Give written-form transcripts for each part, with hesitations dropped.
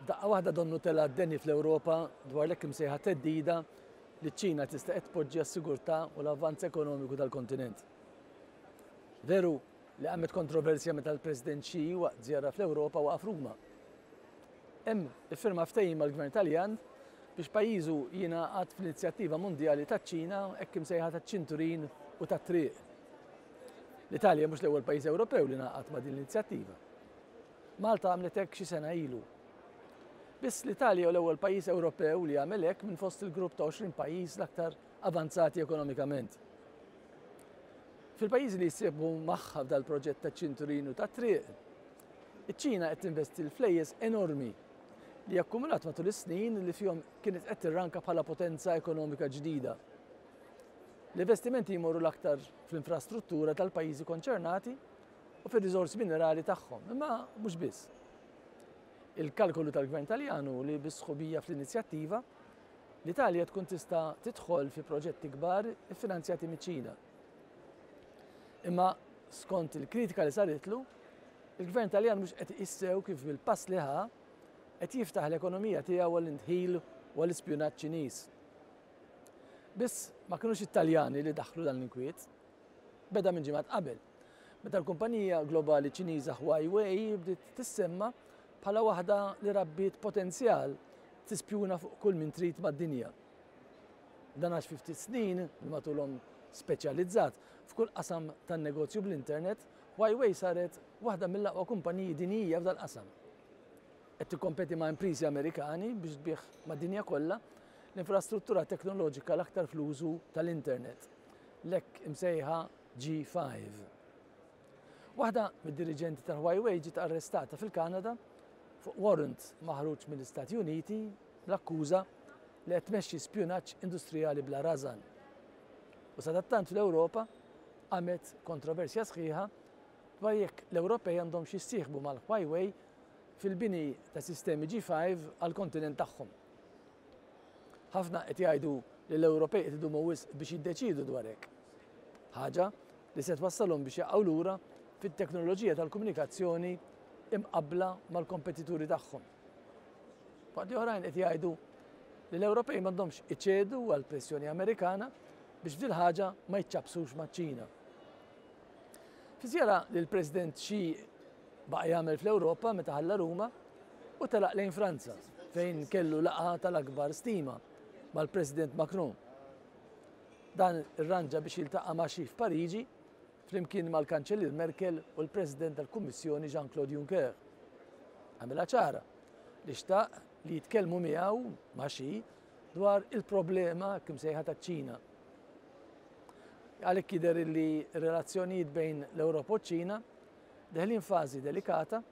F'daqqa waħda donnu tela' d-deni fl-Ewropa dwar l-hekk imsejħa theddida li ċ-Ċina tista' qed tpoġġi għas-sigurtà u l-avvanz ekonomiku tal-kontinent. Veru li qamet kontroversja meta l-President Xi waqt żjara fl-Ewropa waqaf Ruma. Hemm iffirma ftehim mal-Gvern Taljan biex pajjiżu jingħaqad fl-inizjattiva mondjali taċ-Ċina hekk imsejħa taċ-ċinturin u tat-triq. L-Italja mhux l-ewwel pajjiż Ewropew li ngħaqad ma' din l-inizjattiva. Malta għamlet hekk xi sena ilu. Biss l-Italja hu l-ewwel pajjiż Ewropew li għamel hekk minn fost il-grupp ta' 20 pajjiż l-aktar avanzati ekonomikament. Fil-pajjiżi li jissieħbu magħha f'dal-proġett taċ-ċinturin u tat-triq, iċ-Ċina qed tinvesti l-flejjes enormi li akkumulat matul is-snin li fihom kienet qed tirranka bħala potenza ekonomika ġdida. L-investimenti jmorru l-aktar fl-infrastruttura tal-pajjiżi konċernati u fir-riżorsi minerali tagħhom, imma mhux biss. Il-kalkolu tal-Gvern Taljan hu li bis-sħubija fl-inizjattiva, l-Italja tkun tista' tidħol fi proġetti kbar iffinanzjati miċ-Ċina. Imma skont il-kritika li saritlu, il-Gvern Taljan mhux qed iqis sew kif bil-pass li ħa qed jiftaħ l-ekonomija tiegħu għall-indħil u għall-ispjunaġġ Ċiniż. Biss ma kinux it-Taljani li daħħlu dan l-inkwiet. Beda minn ġimgħat qabel, meta l-kumpanija globali Ċiniża Huawei bdiet tissemma bħala waħda li rabbiet potenzjal tispjuna fuq kull min trid mad-dinja. Dan għax fi ftit snin li matulhom speċjalizzat f'kull qasam tan-negozju bl-internet, Huawei saret waħda mill-aqwa kumpaniji dinjija f'dal-qasam. Qed tikkompeti ma' impriżi Amerikani biex tbigħ mad-dinja kollha l-infrastruttura teknoloġika l-aktar fl-użu tal-internet, l-hekk imsejħa G5. Waħda mid-diriġenti tal-Huawei ġiet arrestata fil-Kanada fuq warrant maħruġ mill-Istati Uniti bl-akkuża li qed tmexxi spjunaġġ industrijali bla rażan. U sadattant fl-Ewropa qamet kontroversja sħiħa dwar jekk l-Ewropej għandhomx jissieħbu mal-Huawei fil-bini ta' sistemi G5 għall-kontinent tagħhom. Ħafna qed jgħidu li l-Ewropej qed idumu wisq biex jiddeċiedu dwar hekk. Ħaġa li se twassalhom biex jaqgħu lura fit-teknoloġija tal-komunikazzjoni imqabbla mal-kompetituri tagħhom. Waqt li oħrajn qed jgħidu li l-Ewropej m'għandhomx iċedu għal pressjoni Amerikana biex f'dil ħaġa ma jiċċappsux maċ-Ċina. Fi żjara li l-President Xi baqa' jagħmel fl-Ewropa meta ħalla Ruma u telaq lejn Franza fejn kellu laqgħa tal-akbar stima mal-President Macron. Dan irranġa biex jiltaqa' ma' Xi f'Pariġi flimkien mal-Kanċellier Merkel u l-President tal-Kummissjoni Jean-Claude Juncker. Għamilha ċara li xtaq li jitkellmu miegħu ma' Xi dwar il-problema hekk imsejħa taċ-Ċina. Għalhekk jidher li r-relazzjonijiet bejn l-Ewropa u ċ-Ċina deħlin fażi delikata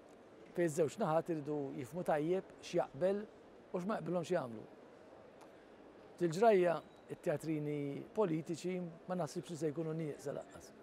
fejn iż-żewġ naħat iridu jifhmu tajjeb x'jaqbel u x'ma jaqbilhomx jagħmlu. Dil-ġrajja it-teatrini politiċi ma naħsibx li se jkunu nieqsa lanqas.